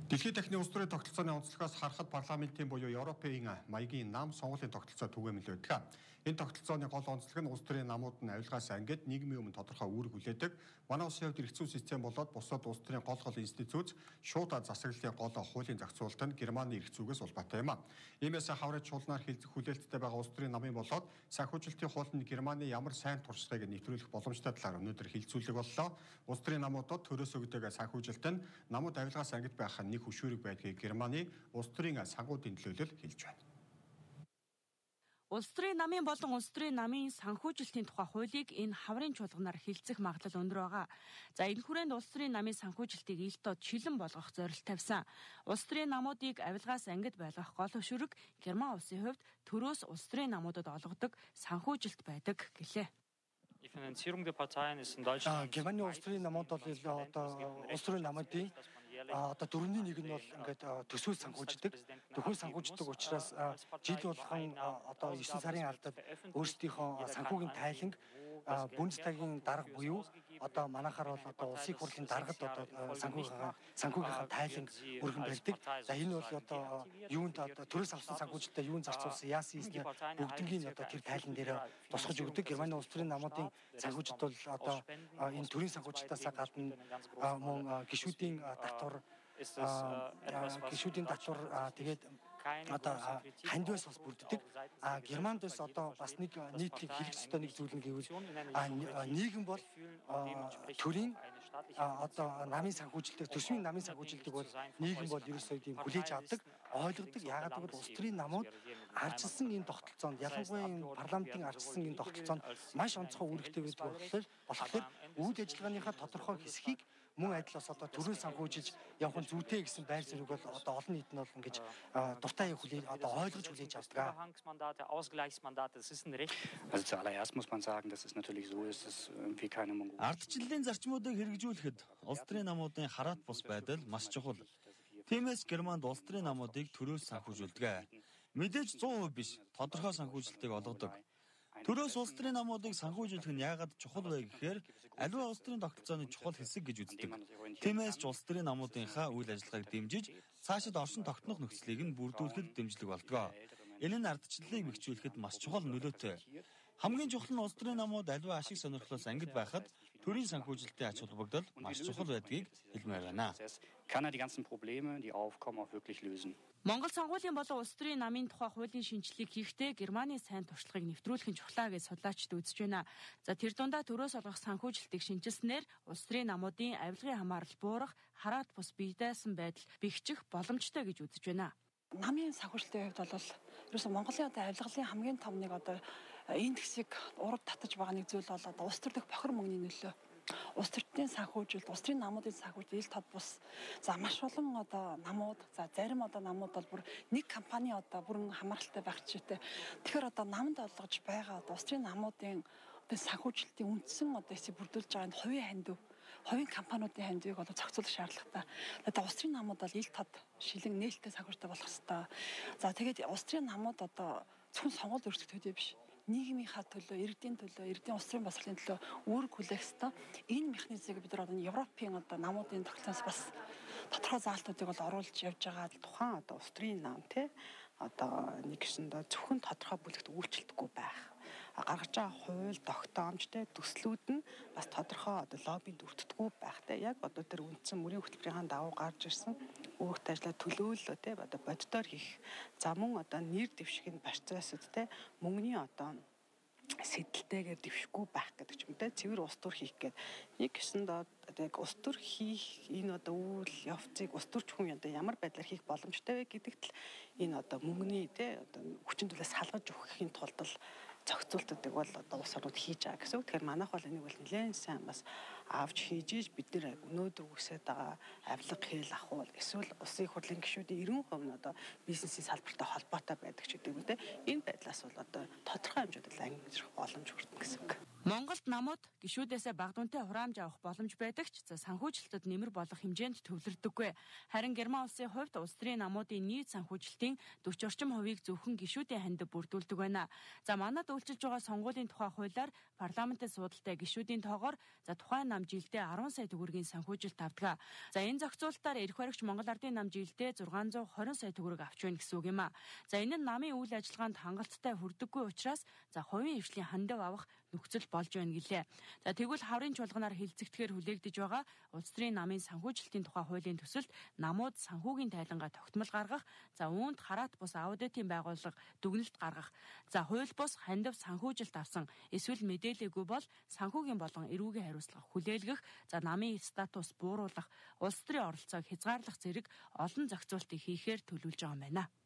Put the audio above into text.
Дэлхийн дахны улс төрийн тогтолцооны онцлогоос харахад парламентын буюу Европын маягийн нам сонгуулийн тогтолцоо түгээмэл байдаг. Энэ тогтолцооны гол онцлог нь улс төрийн намууд нь авилгаас ангид нийгмийн өмнө тодорхой үүрэг хүлээдэг. Манай улсын хувьд эрх зүйн систем болоод бусад улс төрийн гол институт шууд засаглалын гол хуулийн зохицуулалт нь Германы эрх зүйгээс улбаатай юм а. Иймээс хаврын чуулганаар хүлээлттэй байгаа улс төрийн намын болоод санхүүжилтийн хуулинд Германы ямар сайн туршлагыг нэвтрүүлэх боломжтой талаар өнөөдөр хилцүүлэг боллоо. Улс төрийн намуудад төрөөс өгдөг санхүүжилт нь намууд авилгаас ангид байх нэг хөшүүрэг байдгийг Германы улс төрийн санхүүдийн төлөөлөл хэлж байна. Улс төрийн намын болон улс төрийн намын санхүүжилтийн тухай хуулийг энэ хаврын чуулганаар хилцэх магадлал өндөр байгаа. За энэ хүрээнд улс төрийн намын санхүүжилтийг ил дод шилэн болгох зорилт тавьсан. Улс төрийн намуудыг авилгаас ангид байлгах гол хөшүүрэг Герман улсын хувьд төрөөс улс төрийн намуудад олгодог санхүүжилт байдаг гэлээ. Германы улс төрийн намууд бол одоо улс төрийн намуудын одоо дөрөвний нэг нь бол ингээд төсөөл санхүүждэг. Төсөөл санхүүждэг учраас жил болгон одоо 9 сарын алдад өөрсдийнхөө санхүүгийн тайланг Бундестагийн дарга буюу одоо манайхаар бол одоо улсын хурлын даргад одоо санхүүгийнхаа тайланг өргөн барьдаг. За энэ бол одоо юунд одоо төрөөс авсан санхүүжилтээ юунд зарцуулсан яасан ийснэ бүгднийг одоо тэр тайлан дээр тусгаж өгдөг. Германы улс төрийн намуудын санхүүжилт бол одоо энэ төрийн санхүүжилтаас гадна мөн гишүүдийн татвар тэгээд одоо хандвас бас бүрддэг. Германд бас одоо бас нэг нийтлэг хэлэх ёстой нэг зүйл нь гэвэл нийгэм бол төрийн одоо намын санхүүжилтийг төсвийн намын санхүүжилтийг бол нийгэм бол ерөөсөө тийм хүлээж авдаг, ойлгодог. Яагаад гэвэл улс төрийн намууд арчилсан энэ тогтолцоонд ялангуяа энэ парламентын арчилсан энэ тогтолцоонд маш онцгой үүрэгтэй байдаг болохоор үйл ажиллагааныхаа тодорхой хэсгийг мөн адил бас одоо төрийн санхүүжилж явах нь зүйтэй гэсэн байр суурийг бол одоо олон нийт нь бол ингэж дуртай хүлээж одоо ойлгож хүлээж авдаг. Zuallererst muss man sagen, dass es natürlich so ist, dass irgendwie keine Mongolen. Ардчлалын зарчмуудыг хэрэгжүүлэхэд улс төрийн намуудын хараат бус байдал маш чухал. Тиймээс Германд улс төрийн намуудыг төрөөс санхүүжүүлдэг. Мэдээж 100% биш, тодорхой санхүүжилтийг олгодог. Төрөөс улс төрийн намуудыг санхүүжүүлэх нь яагаад чухал вэ гэхээр аливаа улс төрийн тогтолцооны чухал хэсэг гэж үздэг. Тиймээс ч улс төрийн намуудынхаа үйл ажиллагааг дэмжиж цаашид оршин тогтнох нөхцөлийг нь бүрдүүлэхэд дэмжлэг болдог. Энэ нь ардчлалыг бэхжүүлэхэд маш чухал нөлөөтэй. Хамгийн чухал нь улс төрийн намууд аливаа ашиг сонирхлоос ангид байхад төрийн санхүүжилтийн ач холбогдол маш чухал байдгийг хэлмээр байна. Монгол сонгуулийн болон улс төрийн намын тухай хуулийн шинжилгээг хийхдээ Германы сайн туршлагыг нэвтрүүлэх нь чухлаа гэж судлаачид үзэж байна. За тэр дундаа төрөөс олгох санхүүжилтийг шинжилснээр улс төрийн намуудын авилгын хамаарал буурах, хараат бус бие даасан байдал бэхжих боломжтой гэж үзэж байна. Намын санхүүжилтийн хувьд бол ерөөсөн Монголын одоо авилгалын хамгийн том нэг одоо индексийг ураг татаж байгаа нэг зүйл бол одоо улс төр дэх бохир мөнгөний нөлөө. Улс төрийн санхүүжилт, улс төрийн намуудын санхүүжилт ил тод бус. За маш олон одоо намууд, за зарим одоо намууд бол бүр нэг компани одоо бүрэн хамааралтай байх чийтэй. Тэгэхээр одоо намд олгож байгаа одоо улс төрийн намуудын одоо санхүүжилтийн үндсэн одоо эсийг бүрдүүлж байгаа энэ хувийн хандив, хувийн компаниудын хандивыг одоо зохицуулах шаардлагатай. Одоо улс төрийн намууд бол ил тод шилэн нээлттэй санхүүжилттэй болох хэрэгтэй. За тэгээд улс төрийн намууд одоо зөвхөн сонгуульд өрсөлдөх төдий биш. Нийгмийнхаа төлөө, иргэдийн улс төрийн боловсролын төлөө үүрэг хүлээх ёстой. Энэ механизмыг бид нар одоо Европын одоо намуудын тогтолцоос бас тодорхой заалтуудыг бол оруулж явж байгаа. Тухайн одоо улс төрийн нам одоо нэг гэсэндээ зөвхөн тодорхой бүлэгт үйлчлэхгүй байх. Гаргаж байгаа хууль, тогтоомж төслүүд нь бас тодорхой одоо лоббинд өртдөггүй байхтай. Яг одоо тэр үндсэн мөрийн хөтөлбөрийн дагуу гарч ирсэн үүрэгт ажиллаа төлөөлөл одоо боддоор хийх. За мөн одоо нэр дэвшихийн процессд мөнгөний одоо сэдэлтэйгээр дэвшихгүй байх гэдэг ч юм те цэвэр улс төр хийх гэдэг. Нэг гэсэндээ яг улс төр хийх энэ одоо үйл явцыг улс төрч хүн одоо ямар байдлаар хийх боломжтой вэ гэдэгт л энэ одоо мөнгөний те одоо хүчин төлөөс салгаж өгөхийн тулд л зохицуултуудыг бол одоо улс орнууд хийж байгаа гэсэн үг. Тэгэхээр манайх бол энийг бол нэлээд сайн бас авч хийж бид нэр өнөөдөр үсээд байгаа авилга хэл ахуул эсвэл улсын хурлын гишүүдийн 90% нь одоо бизнесийн салбартай холбоотой байдаг ч гэдэг юм те. Энэ байдлаас бол одоо тодорхой хэмжээнд ангижрах боломж хүртэн гэсэн үг. Монголд намууд гишүүдээсээ бага дүнтэй хураамж авах боломж байдаг ч санхүүжилтад нэмэр болох хэмжээнд төвлөрдөггүй. Харин Герман улсын хувьд улс төрийн намуудын нийт санхүүжилтийн 40 орчим хувийг зөвхөн гишүүдийн хандив бүрдүүлдэг байна. За манад үйлчилж байгаа сонгуулийн тухай хуулиар парламентын судалтай гишүүдийн тоогоор тухайн нам жилдээ 10 сая төгрөгийн санхүүжилт авдаг. За энэ зохицуулалтаар эрх баригч Монгол Ардын нам жилдээ 620 сая төгрөг авч байна гэсэн үг юм а. За энэ нь намын үйл ажиллагаанд хангалттай хүрдэггүй учраас хувийн хвшлийн хандив авах нөхцөл болж байна гэлээ. За тэгвэл хаврын чуулганаар хилцэгдэхээр хүлээгдэж байгаа улс төрийн намын санхүүжилтийн тухай хуулийн төсөлд намууд санхүүгийн тайлангаа тогтмол гаргах, за үүнд хараат бус аудитын байгууллага дүгнэлт гаргах, за хууль бус хандив санхүүжилт авсан эсвэл мэдээлээгүй бол санхүүгийн болон эрүүгийн хариуцлага хүлээлгэх, за намын статус бууруулах, улс төрийн оролцоог хязгаарлах зэрэг олон зохицуултыг хийхээр төлөвлөж байгаа юм байна.